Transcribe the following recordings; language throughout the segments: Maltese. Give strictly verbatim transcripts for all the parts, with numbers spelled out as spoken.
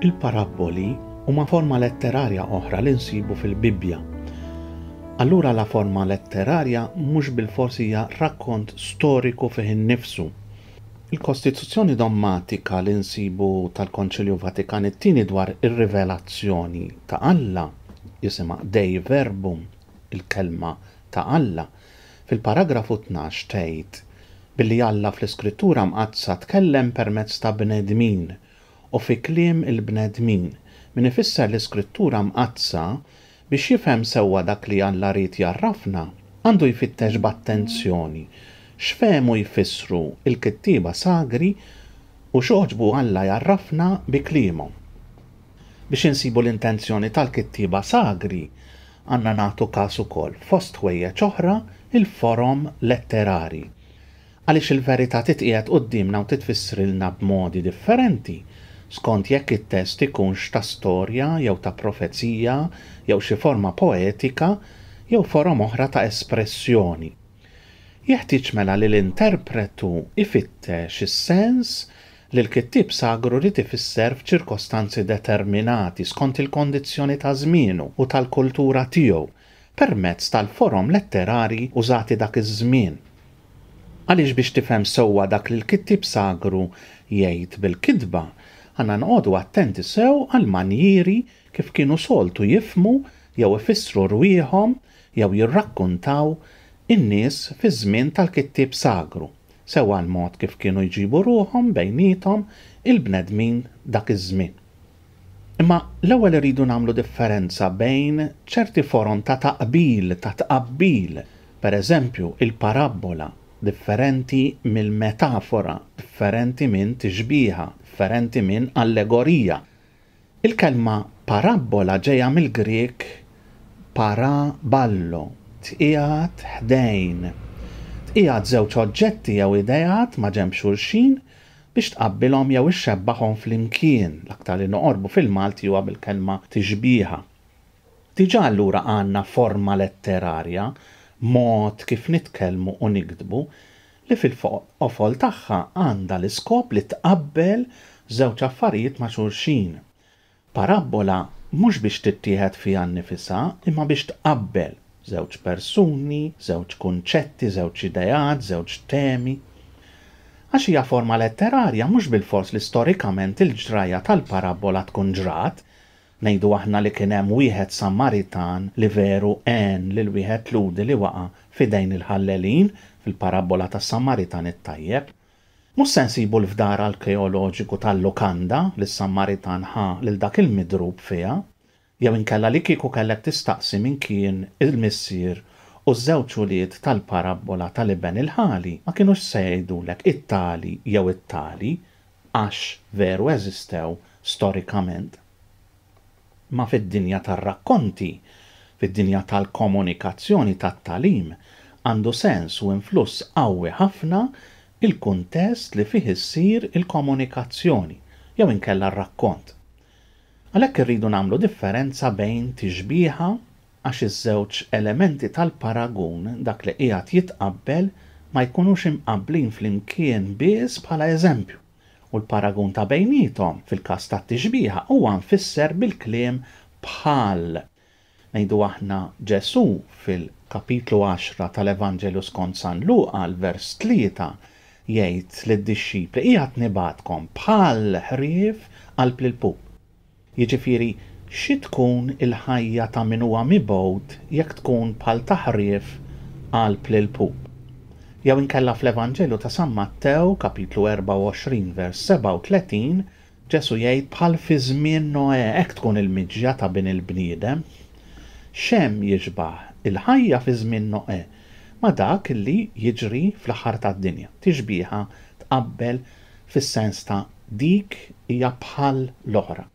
Il-parabboli huma forma letterarja oħra li nsibu fil-Bibbja. Allura la forma letterarja mhux bilfors hija rakkont storiku fih innifsu. Il-Kostituzzjoni Dommatika li nsibu tal-Konċilju Vatikan it-Tieni dwar ir-rivelazzjoni ta' Alla, jisimha Dei Verbum, il-kelma ta' Alla, fil-paragrafu tnax tgħid billi Alla fl-Iskrittura Mqaddsa tkellem permezz ta' bnedmin u fi kliem il-bnedmin, min ifisser l-Iskrittura Mqaddsa biex jifhem sewwa dak li Alla ried jgħarrafna, għandu jfittex b'attenzjoni x'fehmu jfissru l-kittieba sagri u x'għoġbu Alla jgħarrafna bi kliemhom. Biex insibu l-intenzjoni tal-kittieba sagri, għandna nagħtu każ ukoll fost ħwejjeġ oħra il-forom letterari. Għaliex il-verità titqiegħed quddiemna u titfissrilna b'modi differenti, skont jekk it-test ikunx ta' storja jew ta' profezija jew xi forma poetika jew forom oħra ta' espressjoni. Jeħtieġ mela li l-interpretu ifittex is-sens li l-kittieb sagru rid ifisser f'ċirkostanzi determinati skont il-kondizzjoni ta' żmienu u tal-kultura tiegħu permezz tal-forom letterari użati dak iż-żmien. Għaliex biex tifhem sewwa dak li l-kittieb sagru jgħid bil-kitba, għandna noqogħdu attenti sew għall-manjieri kif kienu soltu jifhmu jew ifissru rwieħhom jew jirrakkuntaw in-nies fiż-żmien tal-kittieb sagru, sewwa l-mod kif kienu jġibu ruħhom bejniethom il-bnedmin dak iż-żmien. Imma l-ewwel iridu nagħmlu differenza bejn ċerti forom ta' taqbil, ta' tqabbil, per eżempju il-parabbola, differenti mill-metafora, differenti minn tixbiha, differenti minn allegorija. Il-kelma parabbola ġejja mill-Grek paraballo, tqiegħed ħdejn. Tqiegħed żewġ oġġetti jew ideat ma' ġenb xulxin biex tqabbilhom jew ixxebbaħhom flimkien, l-aktar li noqorbu fil-Malti huwa bil-kelma tixbiha. Diġà allura għandna forma letterarja, mod kif nitkellmu u niktbu, li fil-qofol tagħha għandha l-iskop li tqabbel żewġ affarijiet ma' xulxin. Parabbola mhux biex tittieħed fiha nnifisha, imma biex tqabbel żewġ persuni, żewġ kunċetti, żewġ ideat, żewġ temi. Għax hija forma letterarja mhux bilfors li storikament il-ġrajja tal-parabbola tkun ġrat, ngħidu aħna li kien hemm wieħed Samaritan li veru għen lil wieħed Lhudi li waqa' f'idejn il-ħallelin fil-parabbola tas-Samaritan it-tajjeb. Mhux se nsibu l-fdar arkeoloġiku tal-lukanda li s-Samaritan ħa lil dak il-midrub fiha, jew inkella li kieku kellek tistaqsi min kien il-missier u ż-żewġ ulied tal-parabbola tal-iben il-ħali, ma kinux se jgħidulek it-tali jew it-tali għax veru eżistew storikament. Ma fid-dinja tar-rakkonti, fid-dinja tal-komunikazzjoni tat-tagħlim, għandu sens u influss qawwi ħafna il-kuntest li fih issir il-komunikazzjoni jew inkella r-rakkont. Għalhekk irridu nagħmlu differenza bejn tixbiha għax iż-żewġ elementi tal-paragun dak li qiegħed jitqabbel ma jkunux imqabblin flimkien biss bħala eżempju, u l-paragun ta' bejniethom fil-każ tat-tixbiha huwa mfisser bil-kliem bħal. Ngħidu aħna Ġesù fil-kapitlu għaxra tal-Evanġelju skont San Luqa l-vers tlieta jgħid lid-dixxipli qiegħed nibgħatkom bħal ħrief qalb l-ilpup. Jiġifieri xi tkun il-ħajja ta' min huwa mibgħut jekk tkun bħal ta' ħrief qalb l-ilpup. Jew inkella fl-Evanġelju ta' San Mattew kapitlu erbgħa u għoxrin vers sebgħa u tletin Ġesù jgħid bħal fi żmien Noè hekk tkun il-miġja ta' bin il-bniedem. X'hemm jixbah il-ħajja fi żmien Noè ma' dak li jiġri fl-aħħar tad-dinja. Tixbiha tqabbel fis-sens ta' dik hija bħal l-oħra.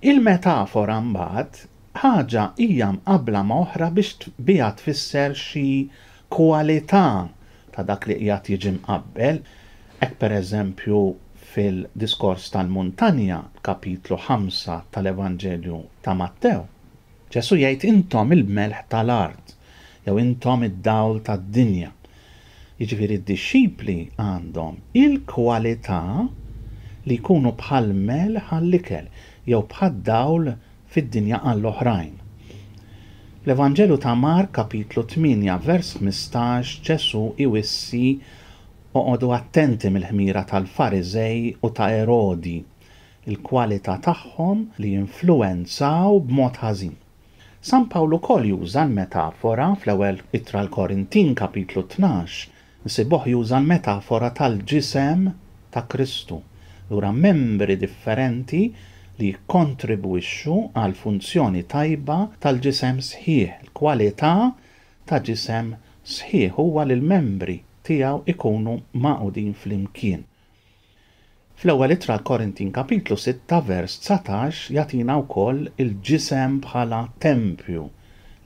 Il-metafora mbagħad ħaġa hija mqabbla ma' oħra biex biha tfisser xi kwalità ta' dak li qiegħed jiġi mqabbel. Hekk pereżempju fil-diskors tal-Muntanja, kapitlu ħamsa tal-Evanġelju ta' Mattew, Ġesù jgħid intom il-melħ tal-art jew intom id-dawl tad-dinja. Jiġifieri d-dixxipli għandhom il-kwalità li jkunu bħal melħ għall-ikel, jew bħad-dawl fid-dinja għall-oħrajn. L-Evanġelju ta' Mark kapitlu tmienja vers ħmistax Ġesù iwissi oqogħdu attenti mill-ħmira tal-Fariżej u ta' Erodi, il-kwalità tagħhom li jinfluwenzaw b'mod ħażin. San Pawl ukoll juża l-metafora fl-ewwel ittra l-Korintin kapitlu tnax, nsibuh juża l-metafora tal-ġisem ta' Kristu. Lura membri differenti li jikkontribwixxu għal funzjoni tajba tal-ġisem sħiħ. Il-kwalità ta' ġisem sħiħ huwa li l-membri tiegħu ikunu magħqudin flimkien. Fl-ewwel ittra l-Korintin kapitlu sitta vers dsatax jagħtina wkoll il-ġisem bħala tempju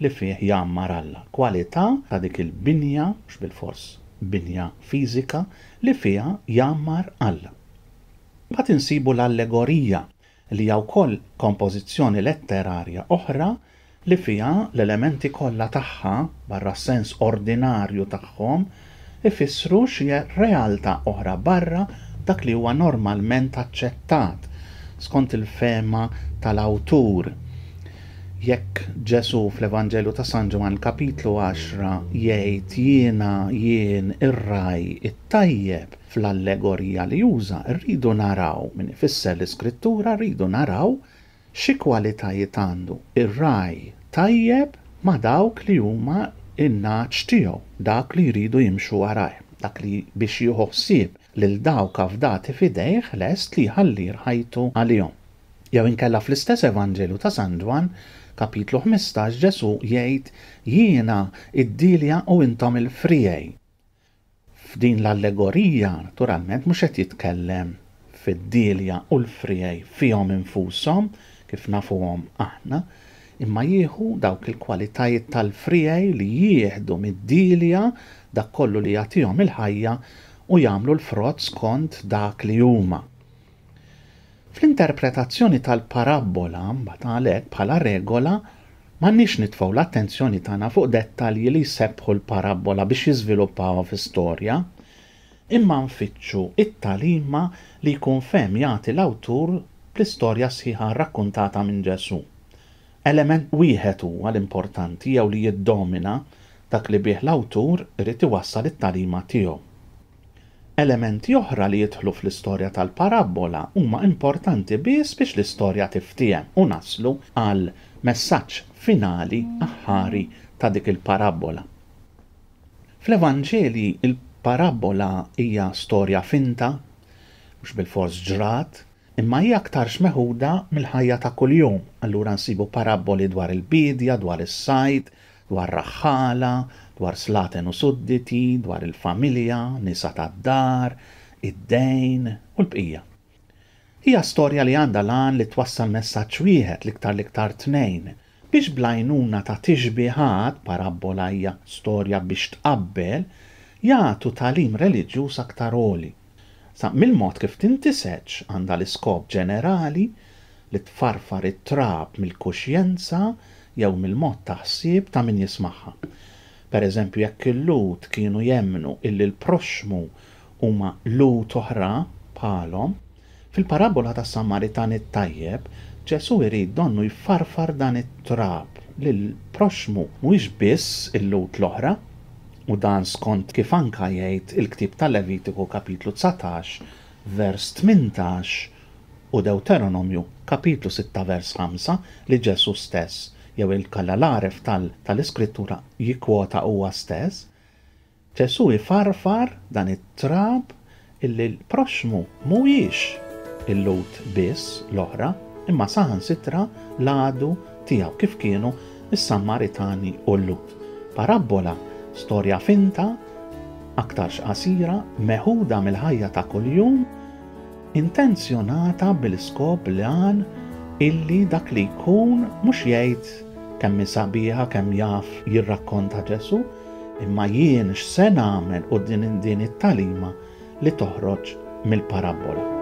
li fih jgħammar Alla. Kwalità ta' dik il-binja, mhux bilfors binja fiżika, li fiha jgħammar Alla. Mbagħad insibu l-allegorija li hija wkoll kompożizzjoni letterarja oħra li fiha l-elementi kollha tagħha barra s-sens ordinarju tagħhom ifissru xi realtà oħra barra dak li huwa normalment aċċettat skont il-fehma tal-awtur. Jekk Ġesù fl-Evanġelju ta' San Ġwann kapitlu għaxra jgħid jiena jien ir-ragħaj it-tajjeb, fl-allegorija li juża rridu naraw, min ifisser l-Iskrittura rridu naraw xi kwalitajiet għandu ir-ragħaj tajjeb ma' dawk li huma in-nagħaġ tiegħu, dak li jridu jimxu warajh, dak li biex jieħu ħsieb lil dawk afdati f'idejh lest li jħalli ħajtu għalihom. Jew inkella fl-istess Evanġelju ta' San Ġwann, kapitlu ħmistax, Ġesù jgħid jiena id-dilja u intom il-friegħi. F'din l-allegorija, naturalment, mhux qed jitkellem fid-dilja u l-friegħi fihom infushom, kif nafuhom aħna, imma jieħu dawk il-kwalitajiet tal-friegħi li jieħdu mid-dilja dak kollu li jagħtihom il-ħajja u jagħmlu l-frott skont dak li huma. Fl-interpretazzjoni tal-parabbola, mbagħad għalhekk bħala regola, m'għandniex nitfgħu l-attenzjoni tagħna fuq dettalji li jsebbħu l-parabbola biex jiżviluppawha fi storja, imma nfittxu it-tagħlima li jkun fehem jagħti l-awtur bl-istorja sħiħa rrakkuntata minn Ġesù. Element wieħed huwa l-importanti jew li jiddomina dak li bih l-awtur irid iwassal it-tagħlima tiegħu. Elementi oħra li jidħlu fl-istorja tal-parabbola huma importanti biss biex l-istorja tiftiehem u naslu għal messaġġ finali aħħari ta' dik il-parabbola. Fl-Evanġeli il-parabbola hija storja finta, mhux bilfors ġrat, imma hija aktarx meħuda mill-ħajja ta' kuljum. Allura nsibu parabboli dwar il-bidja, dwar is-sajd, dwar raħħala, dwar slaten u sudditi, dwar il-familja, nisa tad-dar, id-dejn u l-bqija. Hija storja li għandha l-għan li twassal messaġġ wieħed l-iktar l-iktar tnejn, biex bl-għajnuna ta' tixbihat, parabbola hija storja biex tqabbel, jagħtu tagħlim reliġjuż aktar għoli. Sa mill-mod kif tintiseġ għandha l-iskop ġenerali li tfarfar it-trab mill-kuxjenza jew mill-mod ta' ħsieb ta' min jismagħha. Per eżempju, jekk il-Lhud kienu jemmnu illi l-proxxmu huma Lhud oħra bħalhom, fil-parabbola tas-Samaritan it-tajjeb, Ġesù jrid donnu jfarfar dan it-trab li l-proxxmu mhuwiex biss il-Lhud l-oħra, u dan skont kif anka jgħid il-ktieb tal-Levitiku kapitlu dsatax vers tmintax u Deuteronomju kapitlu sitta vers ħamsa li Ġesù stess jew il-kalla l-għaref tal-Iskrittura jikkwota huwa stess. Ġesù ifarfar dan it-trab illi l-proxxmu mhuwiex il-Lhud biss l-oħra, imma saħansitra l-għadu tiegħu kif kienu is-Sammaritani u l-Lhud. Parabbola, storja finta, aktarx qasira, meħuda mill-ħajja ta' kuljum, intenzjonata bil-iskop l-għan illi dak li jkun mhux jgħid kemm hi sabiħa, kemm jaf jirrakkonta Ġesù, imma jien x'se nagħmel quddiem din it-tagħlima li toħroġ mill-parabbola.